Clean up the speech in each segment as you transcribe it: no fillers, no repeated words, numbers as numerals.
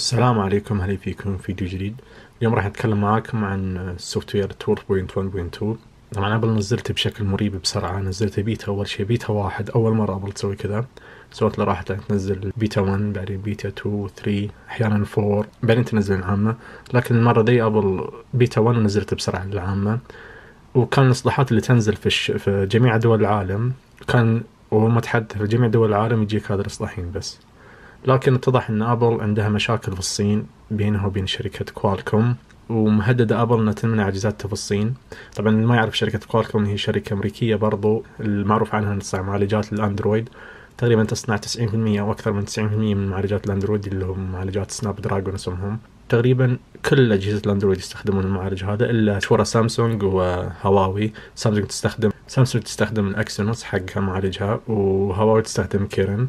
السلام عليكم، هلا فيكم فيديو جديد. اليوم راح نتكلم معاكم عن السوفت وير 12.1.2. طبعا ابل نزلته بشكل مريب بسرعة، نزلته بيتا اول شيء، بيتا 1 اول مرة ابل تسوي كذا. سوت له راحة تنزل بيتا 1 بعدين بيتا 2 3 احيانا 4 بعدين تنزل العامة، لكن المرة دي ابل بيتا 1 ونزلته بسرعة للعامة. وكان الاصلاحات اللي تنزل في جميع دول العالم، كان وهم تحدث في جميع دول العالم يجيك هذا الاصلاحين بس. لكن اتضح ان ابل عندها مشاكل في الصين بينها وبين شركة كوالكوم، ومهددة ابل انها تمنع اجهزتها في الصين. طبعا اللي ما يعرف، شركة كوالكوم هي شركة امريكية برضو، المعروف عنها انها تصنع معالجات الاندرويد. تقريبا تصنع 90% او اكثر من 90% من معالجات الاندرويد اللي هم معالجات سناب دراجون اسمهم. تقريبا كل اجهزة الاندرويد يستخدمون المعالج هذا الا مشهورة سامسونج وهواوي. سامسونج تستخدم الاكسينوس حقها معالجها، وهواوي تستخدم كيرن.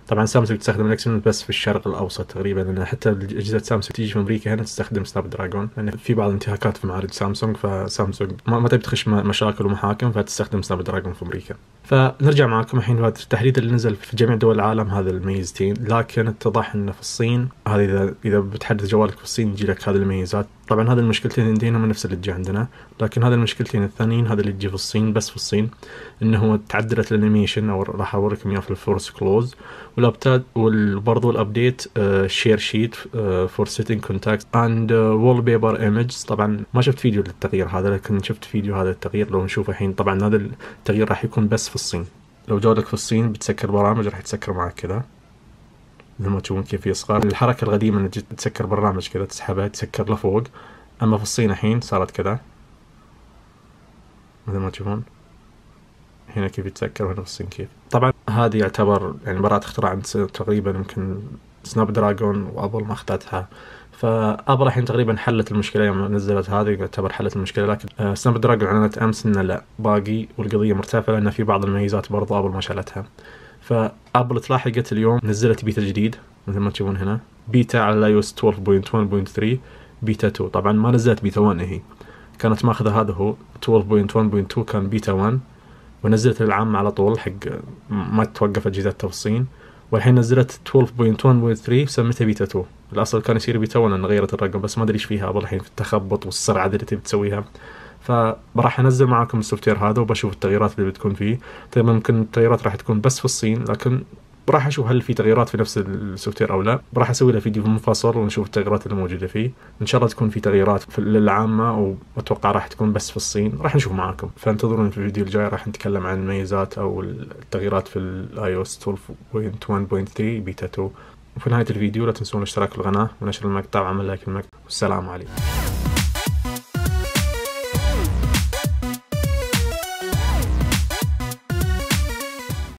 طبعا سامسونج تستخدم الاكسينوس بس في الشرق الاوسط تقريبا، لان حتى اجهزه سامسونج تيجي في امريكا هنا تستخدم سناب دراجون، لان في بعض الانتهاكات في معالج سامسونج، فسامسونج ما تبي تخش مشاكل ومحاكم، فتستخدم سناب دراجون في امريكا. فنرجع معكم الحين هذا التحديث اللي نزل في جميع دول العالم، هذا الميزتين. لكن اتضح انه في الصين، هذا اذا بتحدث جوالك في الصين يجي لك هذه الميزات. طبعا هذه المشكلتين عندنا هم نفس اللي تجي عندنا، لكن هذه المشكلتين الثانيين هذا اللي تجي في الصين بس في الصين، انه تعدلت الانيميشن، او راح اوريكم اياه في الفورس كلوز والابتاد، وبرضو الابديت شير شيت فور سيتنج كونتاكت اند وول بيبر ايمجز. طبعا ما شفت فيديو للتغيير هذا، لكن شفت فيديو هذا التغيير لو نشوفه الحين. طبعا هذا التغيير راح يكون بس في الصين. لو جودك في الصين بتسكر برامج راح تسكر معك كذا، مثل ما تشوفون كيف يصغر. الحركة القديمة انك تسكر برنامج كذا تسحبها تسكر لفوق، اما في الصين الحين صارت كذا مثل ما تشوفون هنا كيف يتسكر، وهنا في الصين كيف. طبعا هذه يعتبر يعني براءة اختراع عند تقريبا يمكن سناب دراجون وابل ما اخذتها. فابل الحين تقريبا حلت المشكله يوم نزلت هذه، يعتبر حلت المشكله. لكن سناب دراجون اعلنت امس انه لا، باقي والقضيه مرتفعه، لان في بعض المميزات برضو ابل ما شالتها. فابل تلاحقت اليوم نزلت بيتا جديد مثل ما تشوفون هنا، بيتا على iOS 12.1.3 بيتا 2. طبعا ما نزلت بيتا 1، هي كانت ماخذه هذا هو 12.1.2 كان بيتا 1، ونزلت العام على طول حق ما توقف اجهزتها في الصين. والحين نزلت 12.1.3 سميتها بيتا 2. الاصل كان يصير بيتا 1 لان غيرت الرقم، بس ما ادري ايش فيها الحين في التخبط والسرعه اللي تبي تسويها. فراح انزل معاكم السوفت وير هذا وبشوف التغييرات اللي بتكون فيه. طيب ممكن التغييرات راح تكون بس في الصين، لكن راح اشوف هل في تغييرات في نفس السوفت وير او لا. راح اسوي له فيديو منفصل ونشوف التغييرات اللي موجوده فيه. ان شاء الله تكون في تغييرات للعامه، واتوقع راح تكون بس في الصين. راح نشوف معاكم، فانتظرون في الفيديو الجاي راح نتكلم عن الميزات او التغييرات في الاي او اس 12.1.3 بيتا 2. وفي نهايه الفيديو لا تنسون الاشتراك في القناه ونشر المقطع وعمل لايك المقطع. والسلام عليكم.